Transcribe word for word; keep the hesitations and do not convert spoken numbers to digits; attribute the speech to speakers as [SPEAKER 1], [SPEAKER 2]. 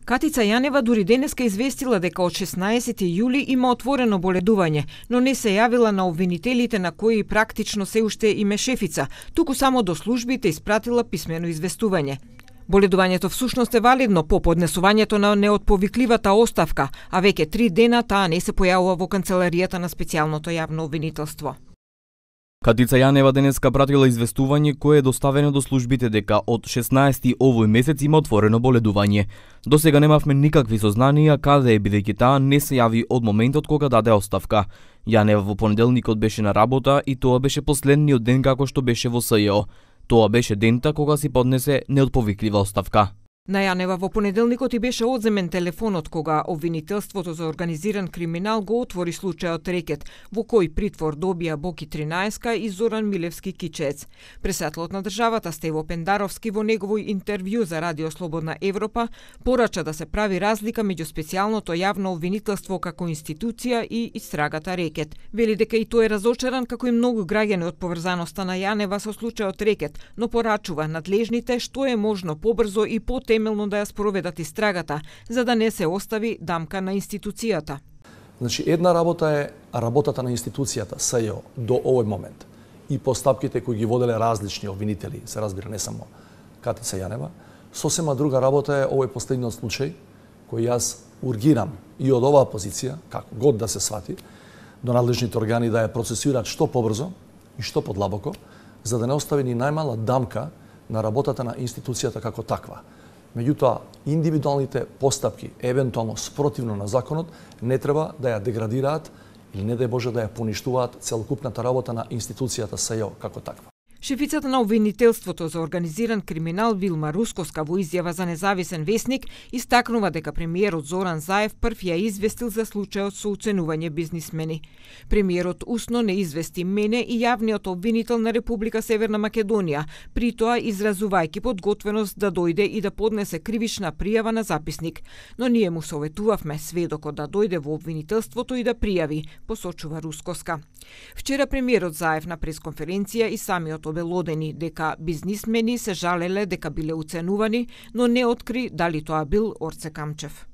[SPEAKER 1] Катица Јанева дури денеска известила дека од шеснаесети јули има отворено боледување, но не се јавила на обвинителите на кои практично се уште им е шефица, туку само до службите испратила писмено известување. Боледувањето всушност е валидно по поднесувањето на неотповикливата оставка, а веќе три дена таа не се појавува во канцеларијата на специјалното јавно обвинителство.
[SPEAKER 2] Катица Јанева денеска пратила известување кое е доставено до службите дека од шеснаесети овој месец има отворено боледување. До сега немавме никакви сознанија каде е, бидејќи таа не се јави од моментот кога даде оставка. Јанева во понеделникот беше на работа и тоа беше последниот ден како што беше во СЈО. Тоа беше дента кога си поднесе неотповиклива оставка.
[SPEAKER 1] На Јанева во понеделникот и беше одземен телефонот кога обвинителството за организиран криминал го отвори случајот Рекет, во кој притвор добија Боки Тринаеска и Зоран Милевски Кичец. Председателот на државата Стево Пендаровски во неговој интервју за Радио Слободна Европа порача да се прави разлика меѓу специјалното јавно обвинителство како институција и истрагата Рекет. Вели дека и тој е разочаран како и многу граѓани од поврзаноста на Јанева со случајот Рекет, но порачува надлежните што е можно побрзо и по темелно да ја спроведат истрагата, за да не се остави дамка на институцијата.
[SPEAKER 3] Значи, една работа е работата на институцијата СЈО до овој момент и постапките кои ги воделе различни обвинители, се разбира не само Катица Јанева. Сосема друга работа е овој последниот случај кој јас ургирам и од оваа позиција, како год да се свати, до надлежните органи да ја процесираат што побрзо и што подлабоко, за да не остави ни најмала дамка на работата на институцијата како таква. Меѓутоа, индивидуалните постапки, евентуално спротивно на законот, не треба да ја деградираат или не дај Боже да ја поништуваат целокупната работа на институцијата СЈО како таква.
[SPEAKER 1] Шефицата на обвинителството за организиран криминал Вилма Рускоска во изјава за независен весник истакнува дека премиерот Зоран Заев прв ја известил за случајот со уценување бизнисмени. Премиерот усно не извести мене и јавниот обвинител на Република Северна Македонија, при тоа изразувајќи подготвеност да дојде и да поднесе кривична пријава на записник, но ние му советувавме сведокот да дојде во обвинителството и да пријави, посочува Рускоска. Вчера премиерот Заев на пресконференција и самиот обелодени дека бизнисмени се жалеле дека биле уценувани, но не откри дали тоа бил Орце Камчев.